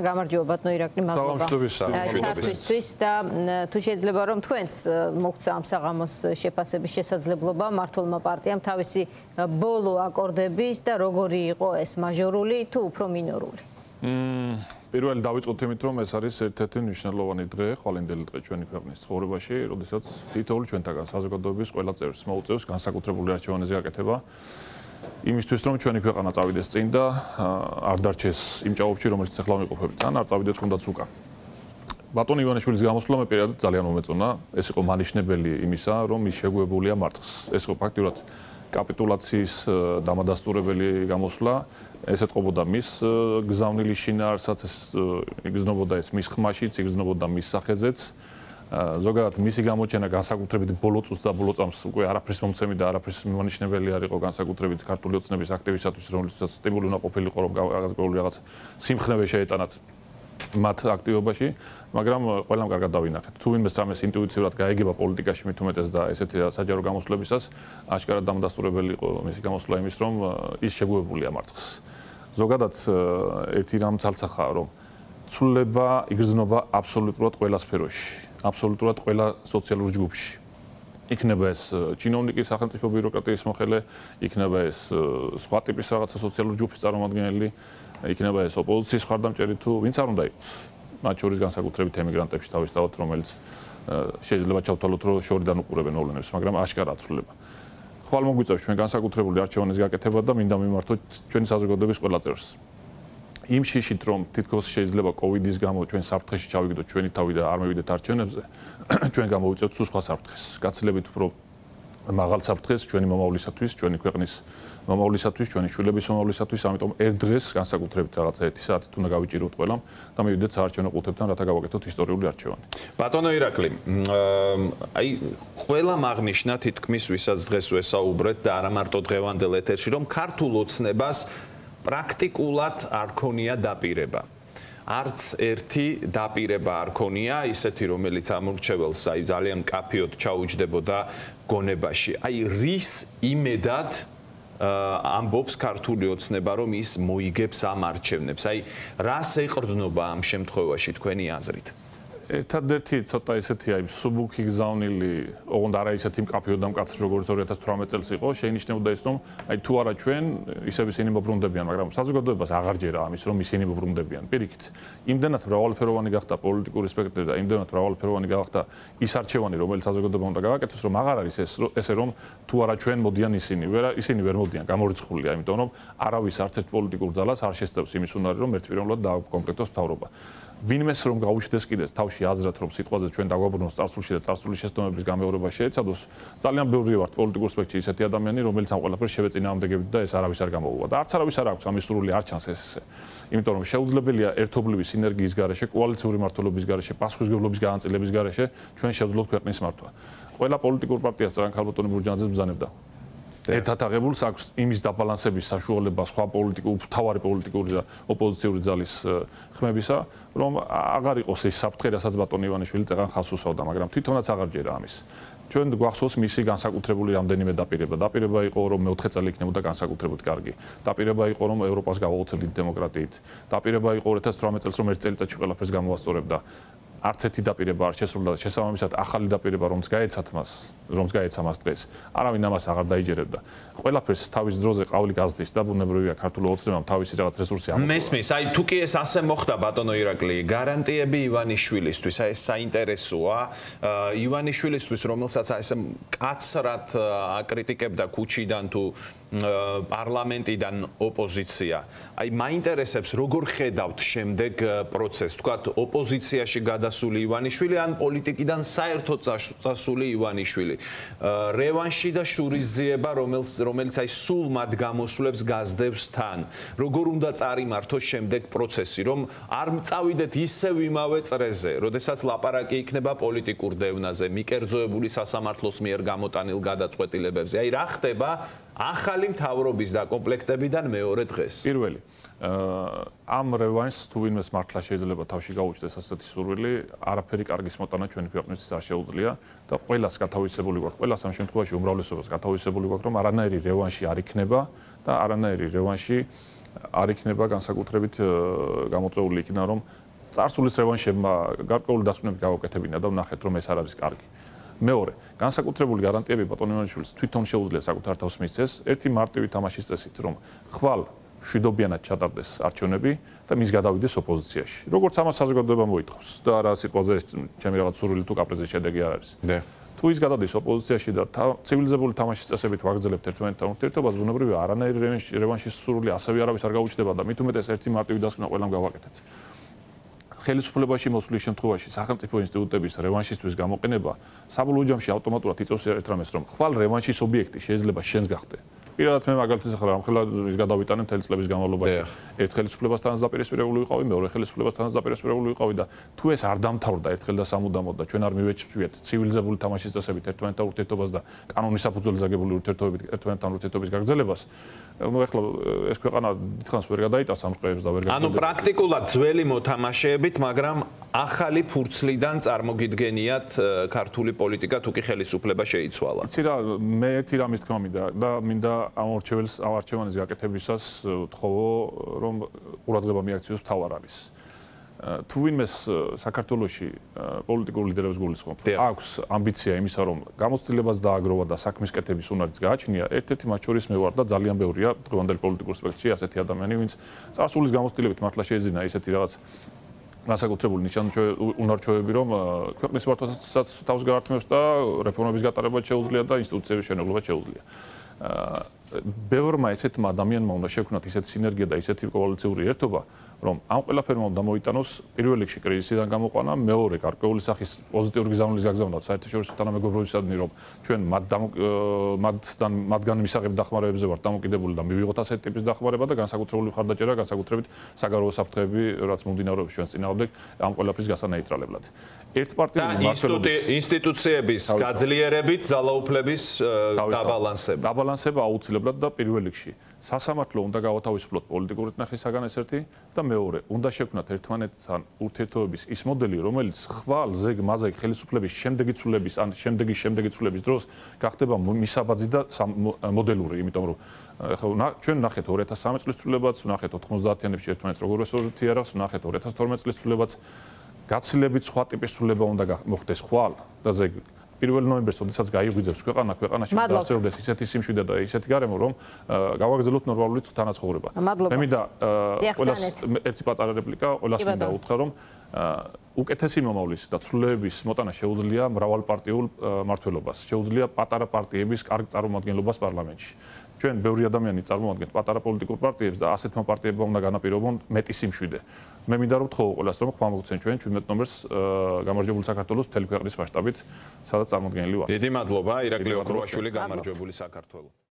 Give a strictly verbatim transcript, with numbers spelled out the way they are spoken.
გამარჯობა ბატონო ირაკლი, მადლობა ჩართვისთვის და თუ შეიძლება რომ თქვენს მოგცა ამ საღამოს შეფასების შესაძლებლობა მართლმა პარტიამ თავისი ბოლო აკორდების და როგორი იყო ეს მაჟორული თუ უფრო მინორული? პირველი დავიწყოთ იმით, რომ ეს არის ერთ-ერთი მნიშვნელოვანი დღე, ხვალინდელი დღე ჩვენი ქვეყნის ცხოვრებაში, როდესაც თითოეული ჩვენთაგან საზოგადოების ყველა წევრს მოუწევს განსაკუთრებული არჩევანის გაკეთება. იმისთვის რომ ჩვენი ქვეყანა წავიდეს წინ და არ დარჩეს იმ ჭაობში, რომელიც ახლა ვიმყოფებით, ან არ წავიდეს თუნდაც უკან. ბატონ ივანიშვილის გამოსვლა მე პირადად ძალიან მომეწონა. ეს იყო მანიშნებელი იმისა, რომ ის შეგუებულია მართლს. ეს იყო ფაქტურად კაპიტულაციის დამადასტურებელი გამოსვლა. ეს ეთყობოდა მის გზავნილი შინაარსაც, ეს იგრძნობოდა ეს მის ხმაშიც, იგრძნობოდა მის სახეზეც. ზოგადად მისი გამოჩენა განსაკუთრებით ბოლო წუთს და ბოლო წამს უკვე არაფრის მომცემი და არაფრის მიმანიშნებელი არ იყო განსაკუთრებით ქართული ოცნების აქტივისტებისთვის, რომლითაც სტიმული უნდა ყოფილიყო, რომ გაგაგებული რაღაც სიმხნევე შეეტანათ მათ აქტივობაში, მაგრამ ყველამ კარგად დავინახეთ. თუ ვინმეს რამეს ინტუიტიურად გაეგება პოლიტიკაში მით უმეტეს და ესეთი საჯარო გამოსვლებისას, აშკარად დამადასტურებელი იყო მისი გამოსვლა იმის, რომ ის შეგუებულია მართლს. ზოგადად ერთი რამ ცალცახაა, რომ ცვლილება იგრძნობა აბსოლუტურად ყველა სფეროში. აბსოლუტურად ყველა სოციალურ ჯგუფში. იქნება ეს ჩინოვნიკის სახელმწიფო ბიუროკრატიის მოხელე, იქნება ეს სხვა ტიპის რაღაცა სოციალური ჯგუფის წარმომადგენელი, იქნება ეს ოპოზიციის მხარდამჭერი თუ ვინც არ უნდა იყოს. მათ შორის განსაკუთრებით ემიგრანტებში თავისთავად, რომელიც შეიძლება ჩავთვალოთ, რომ შორიდან უყურებენ მოვლენებს, მაგრამ აშკარაა ცვლილება. ხვალ მოგვიწევს ჩვენ განსაკუთრებული არჩევანის გაკეთება და მინდა მიმართოთ ჩვენი საზოგადოების ყველა წევრს. იმ შიშით რომ თითქოს შეიძლება კოვიდის გამო ჩვენ საფრთხეში ჩავიგდოთ ჩვენი თავი და არ მივიდეთ არჩევნებზე, ჩვენ გამოვიწევთ სულ სხვა საფრთხეს. გაცილებით უფრო მაღალ საფრთხეს ჩვენი მომავლისათვის, ჩვენი ქვეყნის მომავლისათვის, ჩვენი შვილების მომავლისათვის, ამიტომ ერთ დღეს განსაკუთრებით რაღაცა ერთი საათით უნდა გავიჭიროთ ყველამ და მივიდეთ საარჩევნო ყუთებთან, რათა გავაკეთოთ ისტორიული არჩევანი. ბატონო ირაკლი, აი ყველამ აღნიშნა თითქმის ვისაც დღეს ვესაუბრეთ და არა მარტო დღევანდელ ეთერში, რომ ქართულ ოცნებას პრაქტიკულად არ ქონია დაპირება. არც ერთი დაპირება არ ქონია, ისეთი რომელიც ამორჩეველს აი ძალიან კაფიოდ ჩაუჯდებოდა გონებაში. აი რის იმედად ამბობს ქართული ოცნება, რომ ის მოიგებს ამ არჩევნებს. აი რას ეყრდნობა ამ შემთხვევაში თქვენი აზრით? ერთადერთი ცოტა ისეთი აი სუბუქი გზავნილი, ოღონდ არა ისეთი მკაფიო და მკაცრი როგორც ორი ათას თვრამეტ წელს იყო, შეინიშნებოდა ის, რომ აი თუ არა ჩვენ ისევ ისინი მობრუნდებიან, მაგრამ საზოგადოებას აღარ ჯერა ამის, რომ ისინი მობრუნდებიან. პირიქით, იმდენად მრავალფეროვანი გახდა პოლიტიკური სპექტრი და იმდენად მრავალფეროვანი გახდა ის არჩევანი, რომელიც საზოგადოებამ უნდა გააკეთოს, რომ აღარ არის ეს ესე რომ თუ არა ჩვენ მოდიან ისინი, ვერ ისინი ვერ მოდიან, გამორიცხულია, იმიტომ რომ არავის არც ერთ პოლიტიკურ ძალას არ შესწევს იმის უნარი, რომ ერთპიროვნულად დააკომპლექტოს მთავრობა. ვინმეს რომ გაუჩნდეს კიდეც თავში აზრად, რომ სიტყვაზე ჩვენ დაგვაბრუნოს წარსულში და წარსულის შესტომების გამეორება შეეცადოს, ძალიან ბევრი ვართ პოლიტიკურ სპექტრში ისეთი ადამიანი, რომელიც ამ ყველაფერს შევეწინააღმდეგებთ და ეს არავის არ გამოუვა და არც არავის არ აქვს ამის სრული არ ჩანს ეს ესე. იმიტომ რომ შეუძლებელია ერთობლივი სინერგიის გარეშე, კოალიციური მმართველობის გარეშე, პასუხისმგებლობის განაწილების გარეშე ჩვენ შევძლოთ ქვეყნის მართვა. ყველა პოლიტიკურ პარტიას წერან ქალბატონი მურჯანაძეს ბრძანებდა. ერთად აღებულს აქვს იმის დაბალანსების საშუალება სხვა პოლიტიკური, მთავარი პოლიტიკური და ოპოზიციური ძალის ხმებისა, რომ აღარ იყოს ეს საფრთხე, რასაც ბატონი ივანიშვილი წეგან ხალხს უსვავდა, მაგრამ თვითონაც აღარ ჯერა ამის. ჩვენ გვახსოვს მისი განსაკუთრებული რამდენიმე დაპირება. დაპირება იყო, რომ მეოთხე წელი იქნებოდა განსაკუთრებით კარგი. დაპირება იყო, რომ ევროპას გავაუწყდით დემოკრატიით. დაპირება იყო ორი ათას თვრამეტ წელს, რომ ერთ წელიწადში ყველაფერს გამოვასწორებდა. არც ერთი დაპირება არ შესრულდა და შესაბამისად ახალი დაპირება რომც გაეცათ მას, რომც გაეცა მას დღეს, არავინ ამას აღარ დაიჯერებდა. ყველაფერს თავის დროზე ყავლი გაზდის და ბუნებრივია ქართულ ოცნებამ თავისი რაღაც რესურსი ამოყვა. მესმის, აი თუ კი ეს ასე მოხდა ბატონო ირაკლი, გარანტიები ივანიშვილისთვის, აი ეს საინტერესოა, ივანიშვილისთვის, რომელსაც ესე კაცრად აკრიტიკებდა ქუჩიდან თუ პარლამენტიდან ოპოზიცია. აი მაინტერესებს როგორ ხედავთ შემდეგ პროცესს, თქვათ ოპოზიციაში გადასული ივანიშვილი ან პოლიტიკიდან საერთოდ წასული ივანიშვილი. რევანში და შურისძიება, რომელიც რომელიც აი სულ მათ გამოსვლებს გაზდევს თან. როგორ უნდა წარიმართოს შემდეგ პროცესი, რომ არ წავიდეთ ისევ იმავე წრეზე, როდესაც ლაპარაკი იქნება პოლიტიკურ დევნაზე, მიკერძოებული სასამართლოს მიერ გამოტანილ გადაწყვეტილებებზე. აი რა ხდება ახალი მთავრობის დაკომპლექტებიდან მეორე დღეს? პირველი ამ რევანშს თუ ვინმეს მართლა შეიძლება თავში გაუჩნდეს ასეთი სურვილი, არაფერი კარგის მოტანა ჩვენი ქვეყნისთვის არ შეუძლია და ყველას გათავისებული გვაქვს, ყველას ამ შემთხვევაში უმრავლესობას გათავისებული გვაქვს, რომ არანაირი რევანში არ იქნება და არანაირი რევანში არ იქნება განსაკუთრებით გამოწვეული იქნა რომ წარსულის რევანშებმა გარკვეული დასკვნები გავაკეთებინა და ვნახეთ რომ ეს არ არის კარგი. მეორე, განსაკუთრებული გარანტიები ბატონ ივანიშვილის თვითონ შეუძლია საკუთარ თავს მისცეს ერთი მარტივი თამაშის წესით რომ ხვალ მშვიდობიანად ჩატარდეს არჩევნები და მის გადავიდეს ოპოზიციაში. როგორც ამას საზოგადოება მოითხოვს და რა სიტყვაზე ეს ჩემი რაღაც სურვილი თუ კაპრიზის შედეგი არ არის. თუ ის გადადის ოპოზიციაში და ცივილიზებული თამაშის წესებით ვაგრძელებთ ერთმანეთთან ურთიერთობას, ბუნებრივია არანაირი რევანშის სურვილი ასევე არავის არ გაუჩნდება და მით უმეტეს ერთი მარტივი დასკვნა ყველამ გავაკეთეთ. ხელისუფლებაში მოსვლის შემთხვევაში სახელმწიფო ინსტიტუტების რევანშისთვის გამოყენება საბოლოო ჯამში ავტომატურად იწევს ერთ რამეს, რომ ხვალ რევანშის ობიექტი შეიძლება შენს გახდე. პირადად მე მაგალითად ახლა რამხელა ის გადავიტანე მთელი წლების განმავლობაში. ერთ ხელისუფლებასთანაც დაპირისპირებული ვიყავი, მეორე ხელისუფლებასთანაც დაპირისპირებული ვიყავი და თუ ეს არ დამთავრდა ერთხელ და სამუდამოდ და ჩვენ არ მივეჩვიეთ ცივილიზებული თამაშის წესებით ერთმანეთთან ურთიერთობას და კანონის საფუძველზე აგებული ურთიერთობებით ერთმანეთთან ურთიერთობის გაგრძელებას, ну ეხლა ეს ქვეყანა დიდხანს ვერ გადაიტანს ამ ყრეებს და ვერ გადაიტანს. ანუ პრაქტიკულად ძველი მოთამაშეებით, მაგრამ ახალი ფურცლიდან წარმოგიდგენიათ ქართული პოლიტიკა თუ კი ხელისუფლება შეიცვალა. იცი რა, მე ერთი რამის თქმა მინდა და მინდა ამ არჩეველს ამ არჩევანის გაკეთებისას ვთხოვო რომ ყურადღება მიაქციოს მთავარ არის. თუ ვინმეს საქართველოში პოლიტიკურ ლიდერებს გულისხმობ, აქვს ამბიცია იმისა რომ გამოცდილებას დააგროვა და საქმის კეთების უნარიც გააჩნია, ერთ-ერთი მათ შორის მე ვარ და ძალიან ბევრია დღევანდელ პოლიტიკურ სპექტრში ასეთი ადამიანი, ვინც წარსულის გამოცდილებით მართლა შეეძინა ისეთი რაღაც განსაკუთრებული ნიშანმრჩევები, რომ ქვეყნის მართვასაც თავს გაართმევს და რეფორმების გატარებაც შეუძლია და ინსტიტუციების შენებლობაც შეუძლია. ბევრმა ესეთმა ადამიანმა უნდა შექმნათ ისეთი სინერგია და ისეთი კოალიციური ერთობა, რომ ამ ყველაფერმა უნდა მოიტანოს პირველ რიგში კრიზისიდან გამოყვანა, მეორე გარკვეული სახის პოზიტიური გზავნილის გაგზავნა საერთაშორისო თანამეგობრობისადმი, რომ ჩვენ მათთან მათგან მისაღებ დახმარებებზე ვართ დამოკიდებული და მივიღოთ ასეთი ტიპის დახმარება და განსაკუთრებული მხარდაჭერა, განსაკუთრებით საგარეო საფრთხეები, რაც მომდინარეობს ჩვენს წინააღმდეგ ამ ყველაფრის გასანეიტრალებლად. ერთპარტიული მმართველობის ინსტიტუციების გაძლიერებით ძალაუფლების დაბალანსება. დაბალანსება აუცილებლად და პირველ რიგში სასამართლო უნდა გავათავისუფლოთ პოლიტიკური ტნახისაგან ეს ერთი და მეორე უნდა შექმნათ ერთმანეთთან ურთიერთობების ის მოდელი, რომელიც ხვალ ზეგ მაზეგ ხელისუფლების შემდეგი ცვლილების ან შემდეგი შემდეგი ცვლილების დროს გახდება მისაბაძი და მოდელური, იმიტომ რომ ახლა ჩვენ ნახეთ ორი ათას სამი წლის ცვლილებაც, ნახეთ ოთხმოცდაათიანებში ერთმანეთს როგორ ესურთიერავს, ნახეთ ორი ათას თორმეტი წლის ცვლილებაც. გაცილებით სხვა ტიპის ცვლილება უნდა მოხდეს ხვალ და ზეგ პირველ ნოემბერს, როდესაც გაიღვიძებს ქვეყანა, ქვეყანაში დაასრულდეს ისეთი სიმშვიდე და ისეთი გარემო, რომ გავაგრძელოთ ნორმალური თანაცხოვრება. მე მინდა ყველას ერთი პატარა რეპლიკა, ყველას მინდა უთხრა, რომ უკეთესი მომავლის და ცვლილებების მოტანა შეუძლია მრავალპარტიულ მმართველობას, შეუძლია პატარა პარტიების კარგ წარმომადგენლობას პარლამენტში. ჩვენ ბევრი ადამიანი წარმოადგენთ პატარა პოლიტიკურ პარტიებს და ასეთმა პარტიებმა უნდა განაპირობონ მეტი სიმშვიდე. მე მინდა რომ ვთხოვო ყველას, რომ ხმა მოგცენ ჩვენ ჩვიდმეტ ნომერს გამარჯვებული საქართველოს მთელი ქვეყნის მასშტაბით, სადაც წარმოდგენილი ვართ. დიდი მადლობა, ირაკლი ოქროაშვილი, გამარჯვებული საქართველო.